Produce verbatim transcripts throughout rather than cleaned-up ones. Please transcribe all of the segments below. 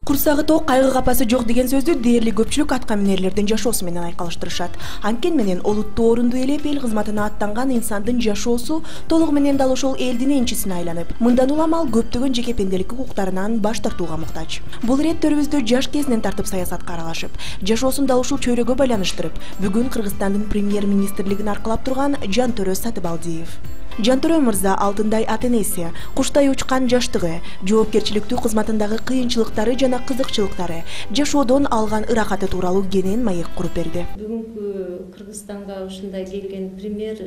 Курсагы ток, кайгы капасы жок деген сөздү дээрлик көпчүлүк атка минерлердин жашоосу менен айкалыштырышат. Анткени менен олуттуу орунду ээлеп эл кызматына аттанган инсандын жашоосу толугу менен дал ошол элдин энчисине айланып, мындан улам ал көптөгөн жеке пенделик укуктарынан баш тартууга муктаж. Бул ирет төрүбүздө жаш кезинен тартып саясатка аралашып, жашоосун дал ушул чөйрөгө байланыштырып, бүгүн Кыргызстандын премьер-министрлигин аркылап турган Жантөрө Сатыбалдиев. Жантөрө мырза алтындай ата-энеси, куштай учкан жаштыгы, жоопкерчиликтүү кызматындагы кыйынчылыктары жана кызыкчылыктары, жашоодон алган ырахаты тууралуу кенен маек куруп берди. Бүгүнкү Кыргызстанга ушундай келген премьер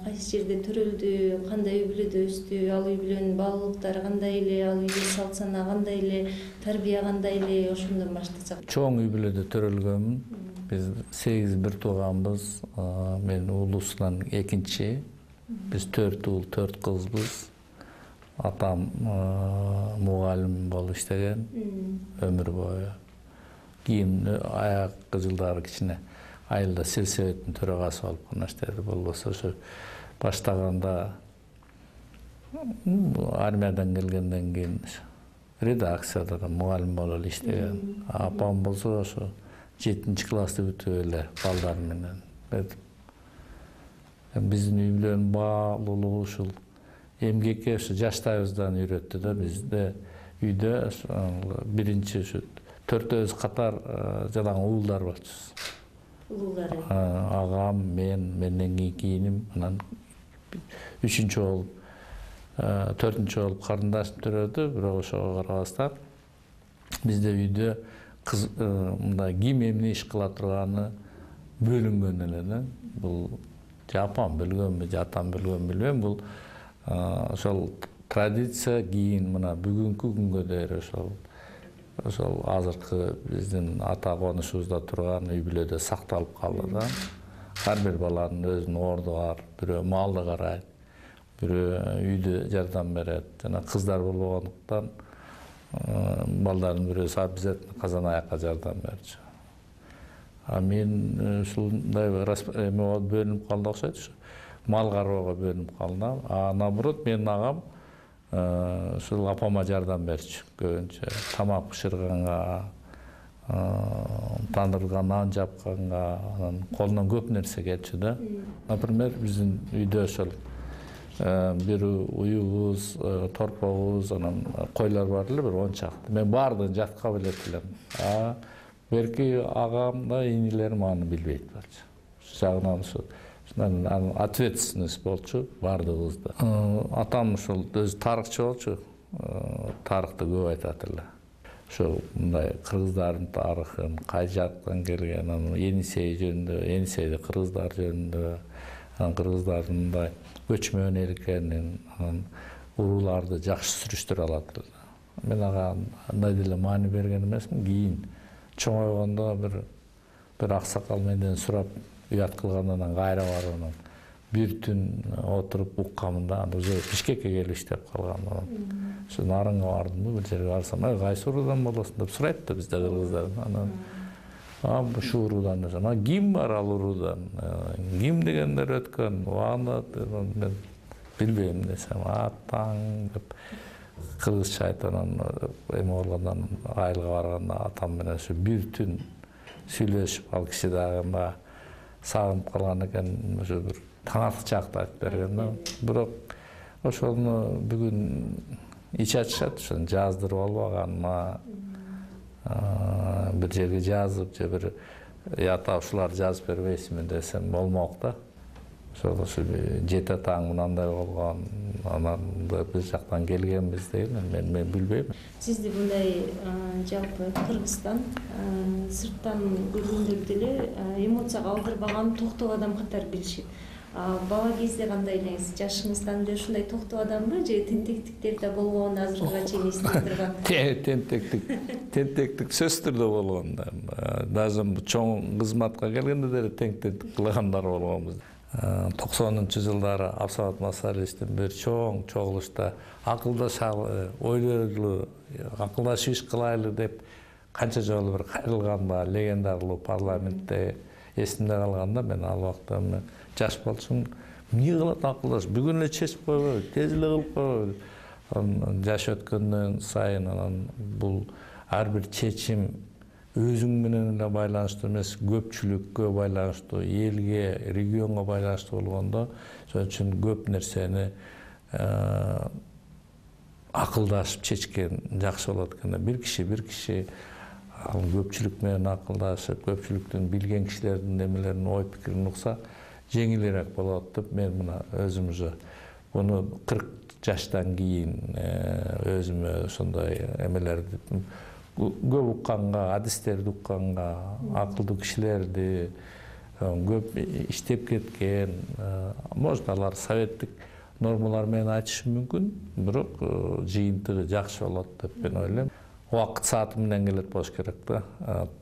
кайсы жерде төрөлдү, кандай үй бүлөдө өстү, ал үй бүлөнүн баалуулуктары кандай эле, ал үйдө салт сана кандай эле, тарбия кандай эле, ошондон баштасак. Чоң үй бүлөдө төрөлгөнмүн. Биз сегиз бир тууганбыз. Мен улуусунан экинчи. Биз төрт уул, төрт кызбыз. Атам мугалим болуп иштеген өмүр бою. Кийин аяккы жылдары кичине айылда сельсоветтин төрагасы болуп гана иштеди. Болбосо ошо баштаганда армиядан келгенден кийин редакцияда да мугалим болуп эле иштеген. Апам болсо ошо жетинчи классты бүтүп эле балдар менен биздин үй бүлөнүн баалуулугу ушул эмгекке ушу жаштайыбыздан үйрөттү да. Бизде үйдө биринчи ушу төртөөбүз катар жалаң уулдар болчубуз. Уулдары. Агам, мен, менден кийинки иним, анан үчүнчү болуп, төртүнчү болуп карындашым төрөдү. Бирок ошого карабастан бизде үйдө кыз мындай ким эмне иш кыла турганы бөлүнгөн эле да. Бул апам бөлгөнбү, атам бөлгөнбү билбейм. Бул ошол традиция кийин мына бүгүнкү күнгө дейин ошол ошол азыркы биздин ата конушубузда турган үй бүлөдө сакталып калды да. Ар бир баланын өзүнүн орду бар. Бирөө малды карайт, бирөө үйдө жардам берет. Жана кыздар болбогондуктан балдардын бирөөсү обязательно казан аякка жардам берчү. А мен ушундай эме бөлүнүп калды окшойт. Мал кароого бөлүнүп калдым. А наоборот менин агам ушул апама жардам берчү көбүнчө. Тамак бышырганга, тандырга нан жапканга, анан колунан көп нерсе келчү да. Например, биздин үйдө ошол бир уюбуз, торпобуз, анан койлор бар эле бир он чакты. Мен баардыгын жатка билет элем. Берки агам да инилерим аны билбейт болчу. Ушул жагынан ушу ответственность болчу баардыгыбызда. Атам ушул өзү тарыхчы болчу. Тарыхты көп айтат эле. Ошо мындай кыргыздардын тарыхын, кай жактан келген, анан Енисей жөнүндө, Енисейде кыргыздар жөнүндө, анан кыргыздардын мындай көчмөн эл экенин, анан урууларды жакшы сүрүштүрө алат эле. Мен ага андай деле маани берген эмесмин. Кийин чоңойгондо бир бир аксакал менден сурап уят кылгандан кайра барып анан бир түн отуруп укканмын да. Уже Бишкекке келип иштеп калгам. Ошо нарынга бардым, бир жерге барсам, кайсы уруудан болосуң деп сурайт да бизде кыргыздар. Анан а ушул уруудан десем, а ким бар ал уруудан? Ким дегендер өткөн? Аны мен билбейм десем, атаң деп кыргызча айтып анан эме болгондон айылга барганда атам менен ушу бир түн сүйлөшүп, ал киши дагы мага сагынып калган экен, ошо бир таңатчакты айтып берген да. Бирок ошону бүгүн ич ачышат, ошону жаздырып албаганма, бир жерге жазып же бир ята ушуларды жазып бербейсизби десем болмок да. Ошол ошо жети атаң мындай болгон, анан бир жактан келгенбиз деген мен мен билбейм. Сизди мындай жалпы Кыргызстан сырттан көргөндөр деле эмоцияга алдырбаган токтоо адам катары билишет. Бала кезде кандай элеңиз? Жашыңыздан эле ушундай токтоо адамбы же тентектиктер да болгон, азыркыга чейин эсте турган? Тентектик, тентектик сөзсүз түрдө болгон. Даже чоң кызматка келгенде деле тентектик кылгандар болгонбуз. токсонунчу жылдары Абсамат Масалиевичтин бир чоң чогулушта акылдашалы, ойлойлу, акылдашып иш кылайлы деп канча жолу бир кайрылган легендарлуу парламентте эсимде калганда, мен ал убакта жаш болчумун. Эмне кылат акылдашып, бүгүн эле чечип койбойбу, тез эле кылып койбойбу. Жаш өткөндөн сайын анан бул ар бир чечим өзүң менен эле байланыштуу эмес, көпчүлүккө байланыштуу, элге, регионго байланыштуу болгондо, ошон үчүн көп нерсени акылдашып чечкен жакшы болот экен. Бир киши бир киши ал көпчүлүк менен акылдашып, көпчүлүктүн билген кишилердин немелерин, ой пикирин укса жеңилирээк болот деп мен мына өзүм уже буну кырк жаштан кийин өзүмө ошондой эмелерди көп укканга, адистерди укканга, акылдуу кишилерди көп иштеп кеткен, может алар советтик нормалар менен айтышы мүмкүн, бирок жыйынтыгы жакшы болот деп мен ойлойм. Убакыт сааты менен келет болуш керек да,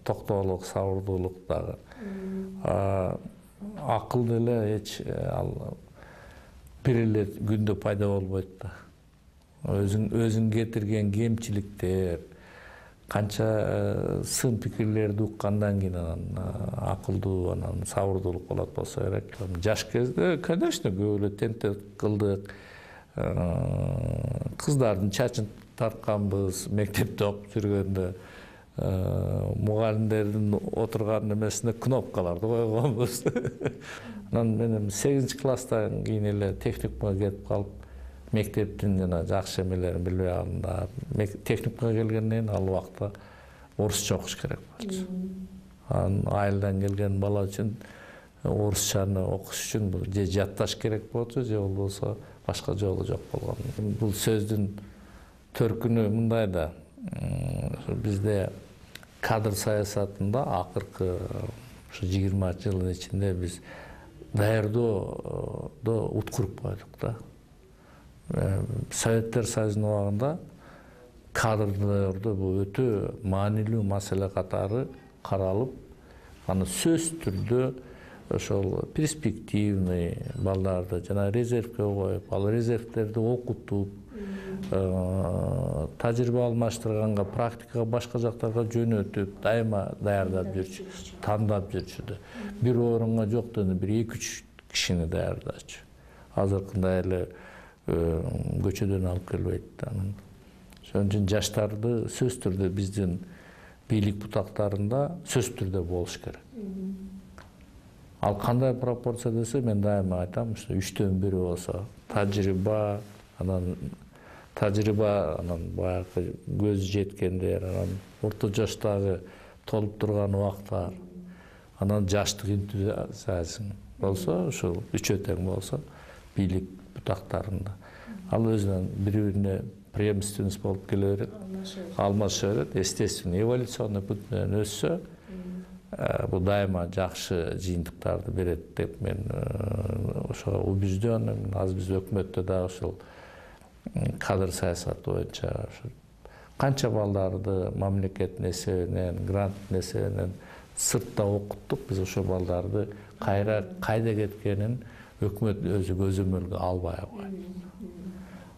токтоолук, сабырдуулук дагы. Акыл деле эч ал бир эле күндө пайда болбойт да. Өзүң өзүң кетирген кемчиликтер, канча сын пикирлерди уккандан кийин анан акылдуу, анан сабырдуулук болот болсо керек. Жаш кезде, конечно, көп эле тентек кылдык, кыздардын чачын тартканбыз, мектепте окуп жүргөндө мугалимдердин отурган эмесине кнопкаларды койгонбуз. Анан мен сегизинчи класстан кийин эле техникумга кетип калып, мектептин жана жакшы эмелерин билбей калдым. Техникумга келгенден кийин ал убакта орусча окуш керек болчу. Анан айылдан келген бала үчүн орусчаны окуш үчүн же жатташ керек болчу, же болбосо башка жолу жок болгон. Бул сөздүн төркүнү мындай да, бизде кадр саясатында акыркы ушу жыйырма жылдын ичинде биз даярдоодо уткуруп койдук да. Советтер Союзунун убагында кадрдарды бул өтө маанилүү маселе катары каралып, аны сөзсүз түрдө ошол перспективный балдарды жана резервге коюп, ал резервтерди окутуп, тажрыйба алмаштырганга, практикага башка жактарга жөнөтүп, дайыма даярдап жүрчү, тандап жүрчү да. Бир орунга жок дегенде бир эки үч кишини даярдачу. Азыркындай эле көчөдөн алып келбейт. Ошон үчүн жаштарды сөзсүз түрдө биздин бийлик бутактарында сөзсүз түрдө болуш керек. Ал кандай пропорция десе, мен дайыма айтам, ушу үчтөн бири болсо тажрыйба, анан тажрыйба, анан баягы көз жеткендер, анан орто жаштагы толуп турган убактар, анан жаштык энтузиазм болсо, ушул үчөө тең болсо бийлик бутактарында. Ал өзүнөн бири-бирине преемственность болуп келе берет, алмаша берет, естественно, эволюционный путь менен өссө, бул дайыма жакшы жыйынтыктарды берет деп мен ошого убежден. Азыр биз өкмөттө дагы ушул кадр саясаты боюнча канча балдарды мамлекеттин эсебинен, гранттын эсебинен сыртта окуттук. Биз ошол балдарды кайра кайда кеткенин өкмөт өзү көзөмөлгө албай койт.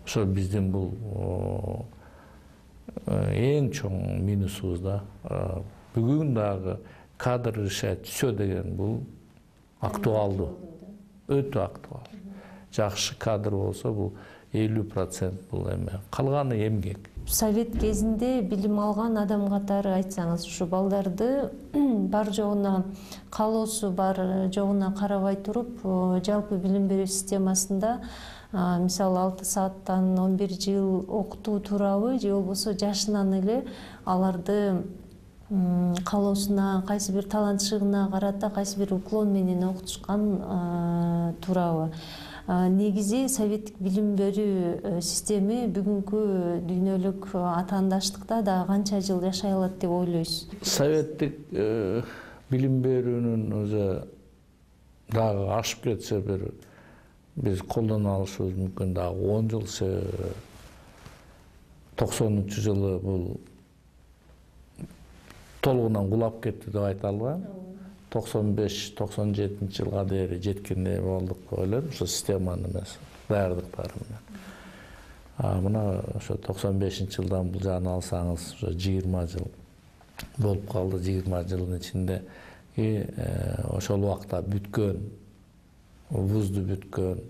Ошо биздин бул эң чоң минусубуз да. Бүгүн дагы кадр решать все деген бул актуалдуу, өтө актуалдуу. Жакшы кадр болсо бул элүү процент бул эме, калганы эмгек. Совет кезинде билим алган адам катары айтсаңыз, ушу балдарды бар жогуна, каалоосу бар жогуна карабай туруп, жалпы билим берүү системасында мисалы алты сааттан он бир жыл окутуу туурабы, же болбосо жашынан эле аларды каалоосуна, кайсы бир талантчылыгына карата кайсы бир уклон менен окутушкан туурабы? Негизи советтик билим берүү системи бүгүнкү дүйнөлүк атаандаштыкта да канча жыл жашай алат деп ойлойсуз? Советтик билим берүүнүн өзү дагы ашып кетсе, бир биз колдоно алышыбыз мүмкүн дагы он жыл. токсонунчу жылы бул толугунан кулап кетти деп айта албайм. токсон беш токсон жетинчи жылга дейин жеткендей болдук деп ойлойм, ошо системанын эмес даярдыктары менен. Мына ошо токсон бешинчи жылдан бул жагын алсаңыз, ошо жыйырма жыл болуп калды. жыйырма жылдын ичинде ошол убакта бүткөн, вузду бүткөн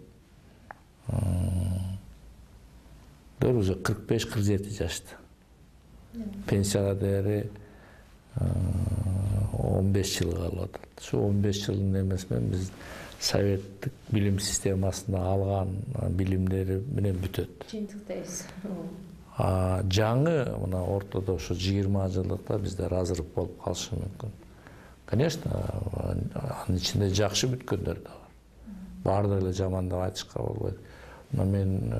дер уже кырк беш кырк жети жашта. Пенсияга дээри он беш жыл калып атат. Şu он беш жылдын эмеси менен биз советтик билим системасында алган билимдери менен бүтөт. Жыйынтыктайбыз. Жаңы мына ортодо ушу жыйырма жылдыкта бизде разрыв болуп калышы мүмкүн. Конечно, анын ичинде жакшы бүткөндөр да бар. Баардыгы эле жаман деп айтышка болбойт. Мен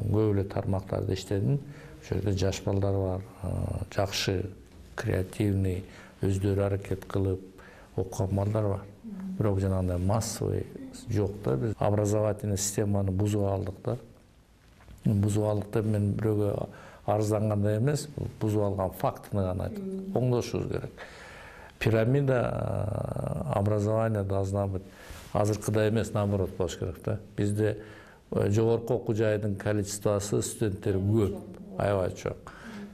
көп эле тармактарда иштедим. Ошол жерде жаш балдар бар, жакшы, креативный, өздөрү аракет кылып окуган балдар бар. Бирок жанагындай массовый жок да. Биз образовательный системаны бузуп алдык да. Бузуп алдык деп мен бирөөгө арыздангандай эмес, бузуп алган фактыны гана айтып, оңдошубуз керек. Пирамида образования должна быть азыркыдай эмес, наоборот болуш керек да. Бизде жогорку окуу жайдын количествосы студенттери көп, аябай чоң.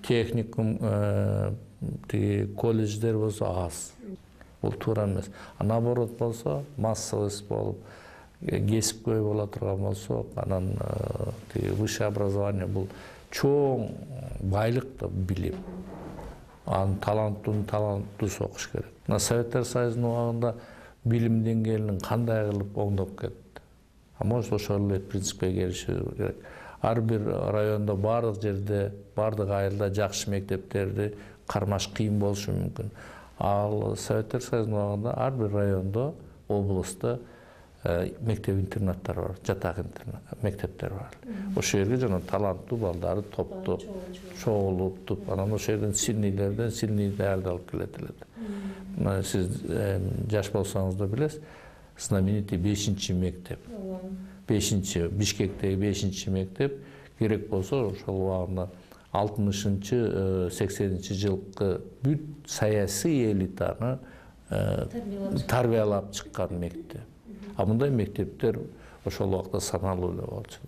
Техникум, тиги колледждер болсо аз. Бул туура эмес. А наоборот болсо, массовость болуп, кесипкөй боло турган болсо, анан тиги высшее образование бул чоң байлык да билим. Анын таланттуу таланттуусу окуш керек. Мына Советтер Союзунун убагында билим деңгээлин кандай кылып оңдоп кетти. А может ошол эле принципке келишүү керек. Ар бир райондо, бардык жерде, бардык айылда жакшы мектептерди кармаш кыйын болушу мүмкүн. Ал Советтер Союзунун убагында ар бир райондо, облустта мектеп-интернаттар бар, жатак мектептер бар. Ошол жерге жана таланттуу балдарды топтоп, чогултуп, анан ошол жерден сильныйлерден сильный даярды алып келет эле. Сиз жаш болсоңуз да билесиз, знаменитый бешинчи мектеп. бешинчи Бишкектеги бешинчи мектеп керек болсо ошол убагында алтымышынчы сексенинчи жылкы бүт саясий элитаны тарбиялап чыккан мектеп. А мындай мектептер ошол убакта саналуу эле болчу.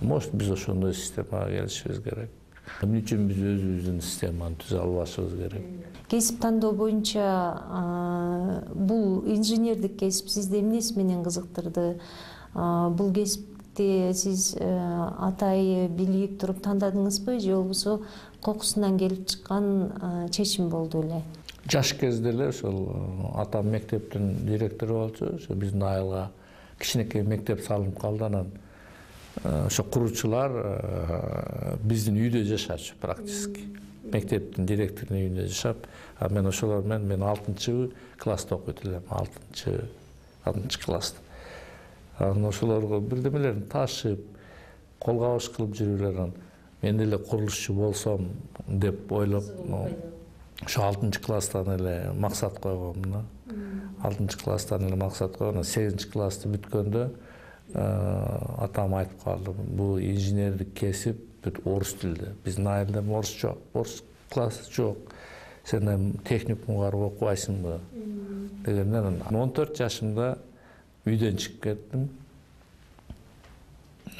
Может, биз ошондой системага келишибиз керек. Эмне үчүн биз өзүбүздүн системаны түзө албашыбыз керек? Кесип тандоо боюнча бул инженердик кесип сизди эмнеси менен кызыктырды? Бул кесипти сиз атайы билип туруп тандадыңызбы же болбосо кокусунан келип чыккан чечим болду эле? Жаш кезде эле ошол атам мектептин директору болчу. Ошо биздин айылга кичинекей мектеп салынып калды. Анан ошо куруучулар биздин үйдө жашачу практически. Мектептин директорунун үйүндө жашап, а мен ошолор менен мен алтынчы класста окуйт элем, алтынчы алтынчы класста. Анан ошолорго бирдемелерин ташып, кол кабыш кылып жүрүлөр. Мен деле курулушчу болсом деп ойлоп, ошо алтынчы класстан эле максат койгом да. алтынчы класстан эле максат койгом. сегизинчи классты бүткөндө атам айтып калды, бул инженердик кесип бүт орус тилде. Биздин айылда орус жок, орус классы жок. Сен техникумга барып окубайсыңбы дегенден он төрт жашымда үйдөн чыгып кеттим.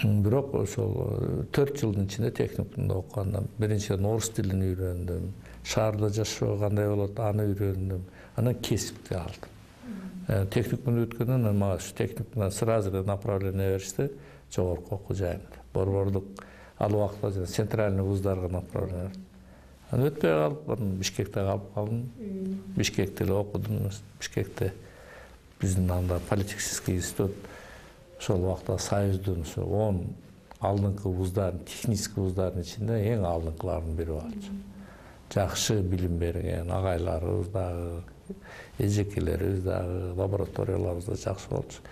Бирок ошол төрт жылдын ичинде техникумда окуганда биринчиден орус тилин үйрөндүм. Шаарда жашоо кандай болот, аны үйрөндүм. Анан кесипти алдым. Техникумду бүткөндөн мага ушу техникумдан сразу эле направление беришти жогорку окуу жайына. Борбордук ал убакта центральный вуздарга направление. Анан өтпөй калып, Бишкекте калып калдым. Бишкекте эле окудум. Бишкекте биздин анда политехнический институт ошол убакта Союздун ошо он алдыңкы вуздардын, технический вуздардын ичинде эң алдыңкылардын бири болчу. Жакшы билим берген агайларыбыз дагы, эжекелерибиз дагы, лабораторияларыбыз да жакшы болчу.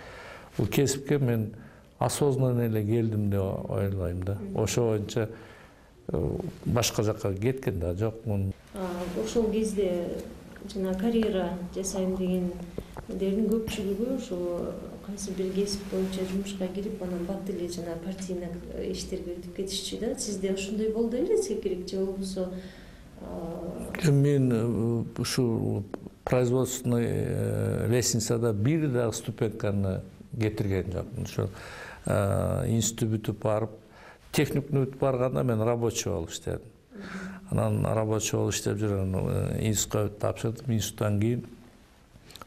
Бул кесипке мен осознанно эле келдим деп ойлойм да. Ошо боюнча башка жакка кеткен да жокмун. Ошол кезде жана карьера жасайм дегендердин көпчүлүгү ошо кайсы бир кесип боюнча жумушка кирип, анан бат эле жана партийный иштерге өтүп кетишчү да. Сизде ошондой болду беле секирик же болбосо? Мен ушу производственный лестницада бир да ступеньканы кетирген жокмун. Ошо институт бүтүп барып, техникумду бүтүп барганда мен рабочий болуп иштедим. Анан рабочий болуп иштеп жүргөн институтка тапшырдым. Институттан кийин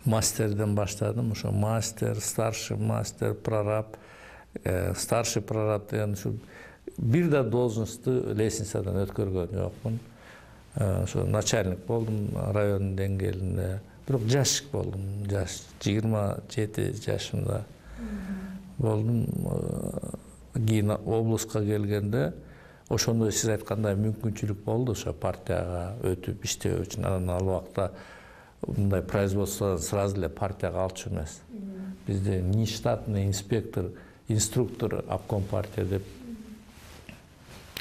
мастерден баштадым. Ошо мастер, старший мастер, прораб, старший прораб деген ушу бир да должностьту лестницадан өткөргөн жокмун. ошо начальник болдум район деңгээлинде. Бирок жаш болдум, жаш жыйырма жети жашымда болдум. Кийин облуска келгенде ошондой сиз айткандай мүмкүнчүлүк болду ошо партияга өтүп иштөө үчүн. Анан ал убакта мындай производстводон сразу эле партияга алчу эмес. Бизде нештатный инспектор, инструктор обком партия деп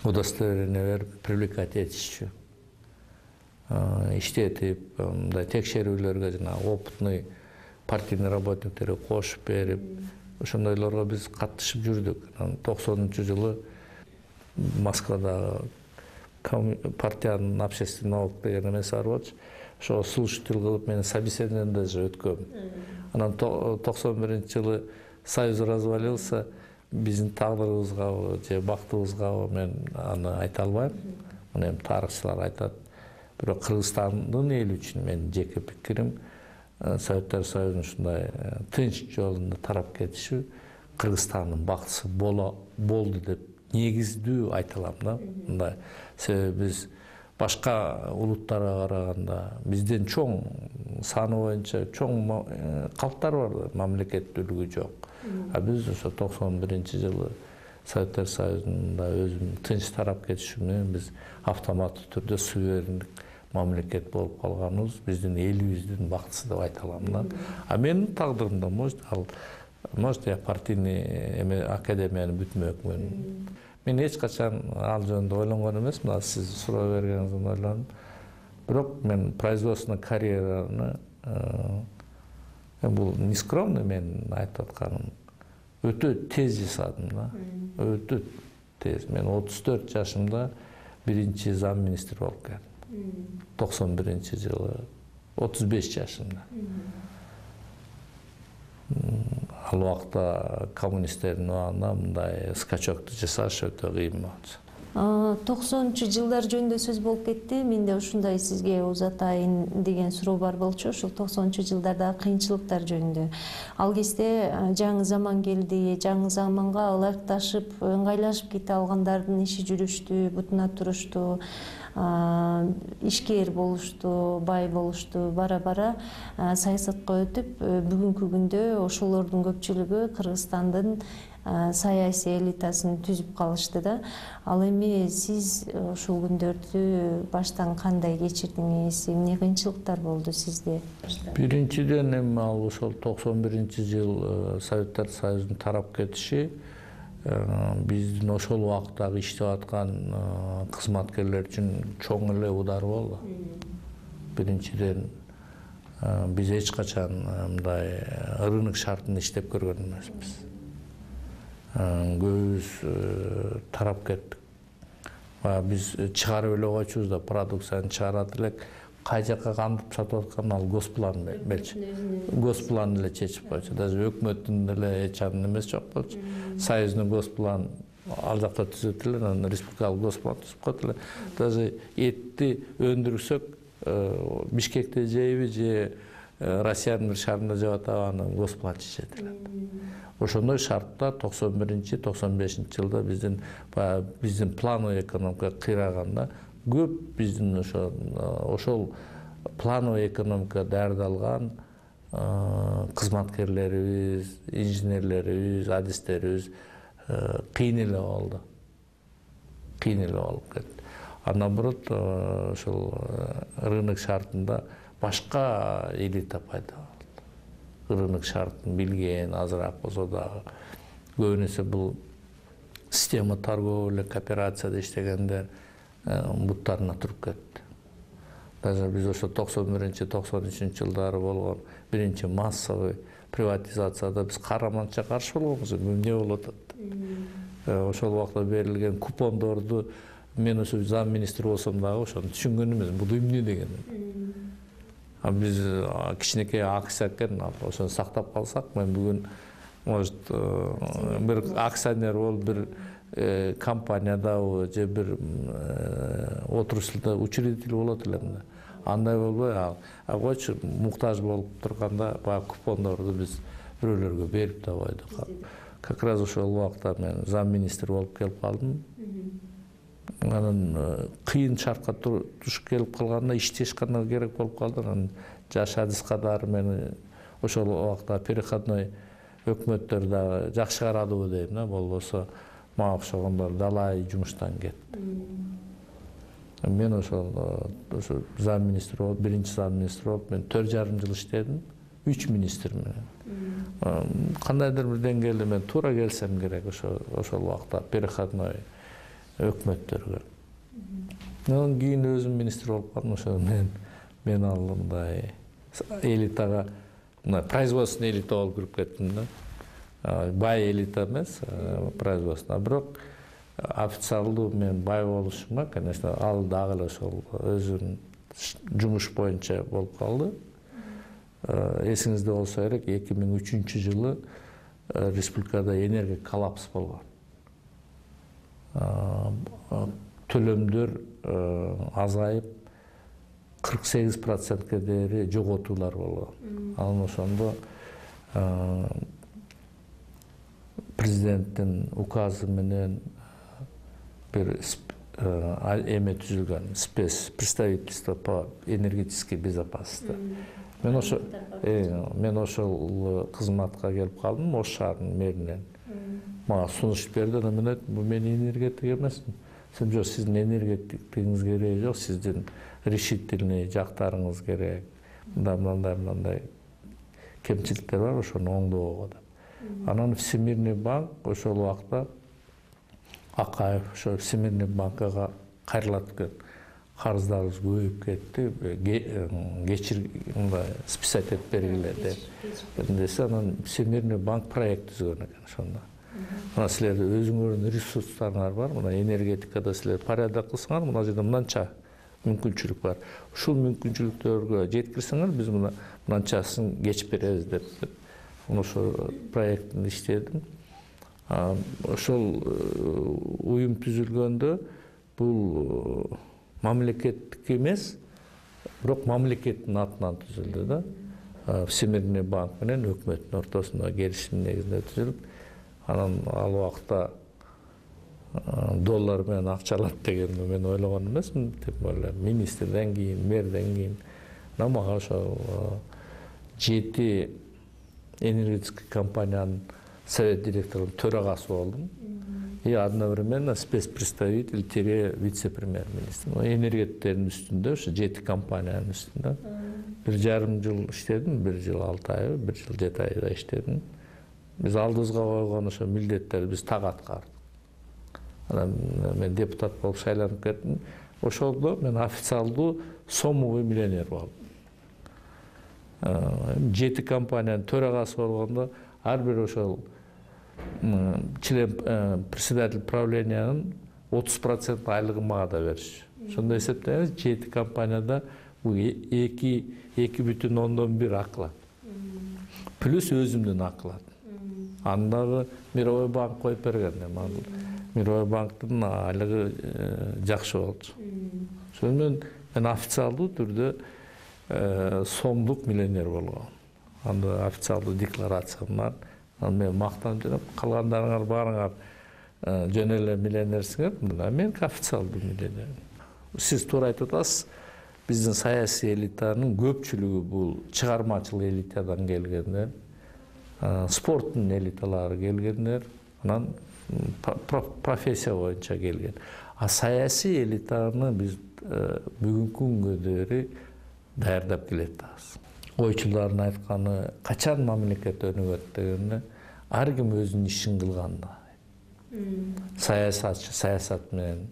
удостоверение берип привлекать этишчү. Иштетип, мындай текшерүүлөргө жана опытный партийный работниктерди кошуп берип, ошондойлорго биз катышып жүрдүк. Анан токсонунчу жылы Москвада партиянын общественный налог деген эмеси бар болчу. Ошо слушатель кылып мени собеседованиеден даже өткөм. Анан токсон биринчи жылы союз развалился, биздин тагдырыбызгабы же бактыбызгабы мен аны айта албайм. Муну эми тарыхчылар айтат. Бирок Кыргызстандын эли үчүн менин жеке пикирим, Советтер Союзунун ушундай тынч жолунда тарап кетиши Кыргызстандын бактысы болду деп негиздүү айта алам да. Мындай себеби биз башка улуттарга караганда бизден чоң саны боюнча чоң калктар бар, мамлекеттүүлүгү жок. А биз ошо токсон биринчи жылы Советтер Союзунда өзүн тынч тарап кетиши менен биз автоматтуу түрдө суверендик мамлекет болуп калганыбыз биздин элибиздин бактысы деп айта алам да. А менин тагдырымда может ал может я партийный академияны бүтмөкмүн. Мен эч качан ал жөнүндө ойлонгон эмесмин, сиз суроо бергениңизден ойлондум. Бирок мен производственный карьераны бул не скромно мен айтып атканым, өтө тез жасадым да. Өтө тез. Мен отуз төрт жашымда биринчи зам министр болуп келдим. токсон биринчи жылы отуз беш жашымда. Ал убакта коммунисттердин убагында мындай скачокту жасаш өтө кыйын болчу. токсонунчу жылдар жөнүндө сөз болуп кетти. Менде ушундай сизге узатайын деген суроо бар болчу. Ушул токсонунчу жылдардагы кыйынчылыктар жөнүндө. Ал кезде жаңы заман келди. Жаңы заманга ылайыкташып, ыңгайлашып кете алгандардын иши жүрүштү, бутуна турушту, ишкер болушту, бай болушту. Бара-бара саясатка өтүп, бүгүнкү күндө ошолордун көпчүлүгү Кыргызстандын саясий элитасын түзүп калышты да. Ал эми сиз ушул күндөрдү баштан кандай кечирдиңиз? Эмне кыйынчылыктар болду сизде? Биринчиден эми ал ошол токсон биринчи жыл Советтер Союзунун тарап кетиши биздин ошол убактагы иштеп аткан кызматкерлер үчүн чоң эле удар болду. Биринчиден биз эч качан мындай рынок шартында иштеп көргөн эмеспиз. Көбүбүз тарап кеттик. Биз чыгарып эле койчубуз да, продукцияны чыгарат элек, кай жака кантип сатып атканын ал госплан белчү. Госплан эле чечип койчу. Даже өкмөттүн деле эч анын эмеси жок болчу. Союздун госплан ал жакта түзөт эле, анан республикалык госплан түзүп коет эле. Даже этти өндүрсөк, Бишкекте жейби же Россиянын бир шаарында жеп атабы, аны госплан чечет эле. Ошондой шартта токсон биринчи токсон бешинчи жылда биздин биздин плановый экономика кыйраганда көп биздин ошо ошол плановый экономика даярдалган кызматкерлерибиз, инженерлерибиз, адистерибиз кыйын эле болду. Кыйын эле болуп кетти. Андан бұрын ошол рынок шартында башка элита пайда болду. Рынок шартын билген, азыраак болсо дагы көбүнесе бул система торговля, кооперацияда иштегендер буттарына туруп кетти. Даже биз ошо токсон биринчи токсон үчүнчү жылдары болгон биринчи массовый приватизацияда биз караманча каршы болгонбуз. Эмне болуп атат? Ошол убакта берилген купондорду мен ошо зам министр болсом дагы ошону түшүнгөн эмесмин. Бул эмне деген? А биз кичинекей акция экен, ошону сактап калсак, мен бүгүн может бир акционер болуп бир компаниядабы же бир отурушта учредитель болот элем да. Андай болбой, а койчу муктаж болуп турганда баягы купондорду биз бирөөлөргө берип да койдук. Как раз ошол убакта мен зам министр болуп келип калдым. анан кыйын шартка туш келип калганда иштеш гана керек болуп калды. Анан жаш адис катары мени ошол убакта переходной өкмөттөр дагы жакшы карадыбы дейм да, болбосо мага окшогондор далай жумуштан кетти. Мен ошол ошо зам министр болуп, биринчи зам министр болуп, мен төрт жарым жыл иштедим, үч министр менен. Кандайдыр бир деңгээлде мен туура келсем керек ошо ошол убакта переходной өкмөттөргө. Анан кийин өзүм министр болуп калдым, ошо мен мен ал мындай элитага, мына производственный элита болуп кирип кеттим да. Бай элита эмес, производственный. Бирок официалдуу мен бай болушума, конечно, ал дагы эле ошол өзүнүн жумуш боюнча болуп калды. Эсиңизде болсо керек, эки миң үчүнчү жылы республикада энергия коллапс болгон. Төлөмдөр азайып, кырк сегиз процентке дейин жоготуулар болгон. Анан ошондо президенттин указы менен бир эме түзүлгөн, спец представительство по энергетической безопасности. Мен ошо мен ошол кызматка келип калдым, Ош шаарынын мэринен. Мага сунуш берди, анан мен айттым, бул мен энергетик эмесмин. Сен жок, сиздин энергетиктигиңиз кереги жок, сиздин решительный жактарыңыз керек. Мындай мындай кемчиликтер бар, ошону оңдоого деп. Анан Всемирный банк ошол убакта Акаев ошо Всемирный банкага кайрылат экен. Карыздарыбыз көбөйүп кетти, кечир мындай списать этип бергиле деп. Десе, анан Всемирный банк проект түзгөн экен ошондо. Мына силердин өзүңөрдүн ресурстарыңар бар, мына энергетикада силер порядок кылсаңар, мына жерде мынанча мүмкүнчүлүк бар. Ушул мүмкүнчүлүктөргө жеткирсеңер, биз мына мынанчасын кечип беребиз деп. Ошол проекттин иштедим. Ошол уюм түзүлгөндө бул мамлекеттик эмес, бирок мамлекеттин атынан түзүлдү да. Всемирный банк менен өкмөттүн ортосунда келишим негизинде түзүлүп, анан ал убакта доллар менен акчалат дегенди мен ойлогон эмесмин, деп ойлойм. Министрден кийин, мэрден кийин, мага ошол жети энергетический компаниянын совет директорунун төрагасы болдум. И одновременно спецпредставитель тире вице-премьер-министр. Энергетиктердин үстүндө, ошо жети компаниянын үстүндө. Бир жарым жыл иштедим, бир жыл алты ай, бир жыл жети айда иштедим. Биз алдыбызга койгон ошо милдеттерди биз так аткардык. Анан мен депутат болуп шайланып кеттим. Ошолдо мен официалдуу сомовый миллионер болдум. Жети компаниянын төрагасы болгондо ар бир ошол член председатель правлениянын отуз процент айлыгын мага да беришчү. Ошондо эсептеңиз, жети компанияда бул эки бүтүн ондон бир аклат. Плюс өзүмдүн аклат. Андагы Мировой банк коюп берген. Мировой банктын айлыгы жакшы болчу. Ошондон мен официалдуу түрдө сомдук миллионер болгом. Анда официалдуу декларациям бар. Анан мен мактанып жүрөм, калгандарыңар баарыңар жөн эле миллионерсиңер, мен официалдуу миллионер. Сиз туура айтып атасыз, биздин саясий элитанын көпчүлүгү бул чыгармачыл элитадан келгендер, спорттун элиталары келгендер, анан профессия боюнча келген. А саясий элитаны биз бүгүнкү күнгө дейин даярдап келатабыз. Ойчулардын айтканы, качан мамлекет өнүгөт дегенде, ар ким өзүнүн ишин кылганда. Саясатчы саясат менен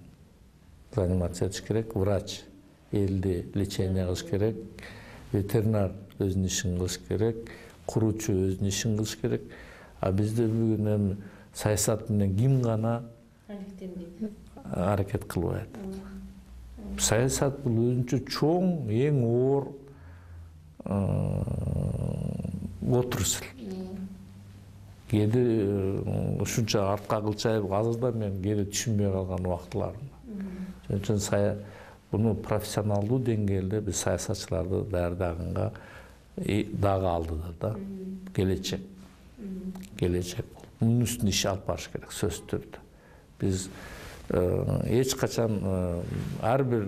заниматься этиш керек, врач элди лечение кылыш керек, ветеринар өзүнүн ишин кылыш керек, куруучу өзүнүн ишин кылыш керек. А бизде бүгүн эми саясат менен ким гана аракет кылбайт. Саясат бул өзүнчө чоң, эң оор отурсул. Кээде ушунча артка кылчайып, азырда мен кээде түшүнбөй калган убактыларым. Ошон үчүн буну профессионалдуу деңгээлде биз саясатчыларды даярдаганга дагы алдыда да. Келечек. Келечек. Мунун үстүнө иш алып барыш керек, сөзсүз түрдө. Биз эч качан ар бир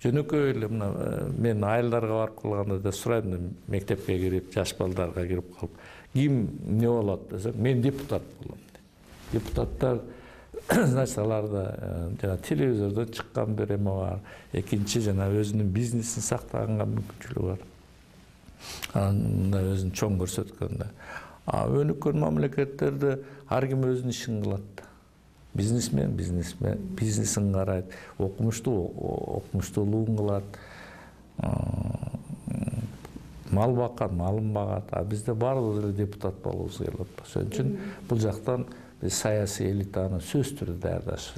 жөнөкөй эле мына мен айылдарга барып калганда да сурайм, мектепке кирип, жаш балдарга кирип калып, ким эмне болот десем, мен депутат болом. Депутаттар, значит, аларда жана телевизордон чыккан бир эме бар. Экинчи жана өзүнүн бизнесин сактаганга мүмкүнчүлүгү бар. Анда өзүн чоң көрсөткөндө. А өнүккөн мамлекеттерде ар ким өзүнүн ишин кылат. Бизнесмен, бизнесмен, бизнесин карайт, окумуштуу, окумуштуулугун кылат, мал баккан, малын багат. А бизде баардыгыбыз эле депутат болобуз келип атпайбы. Ошон үчүн бул жактан биз саясий элитаны сөзсүз түрдө даярдаш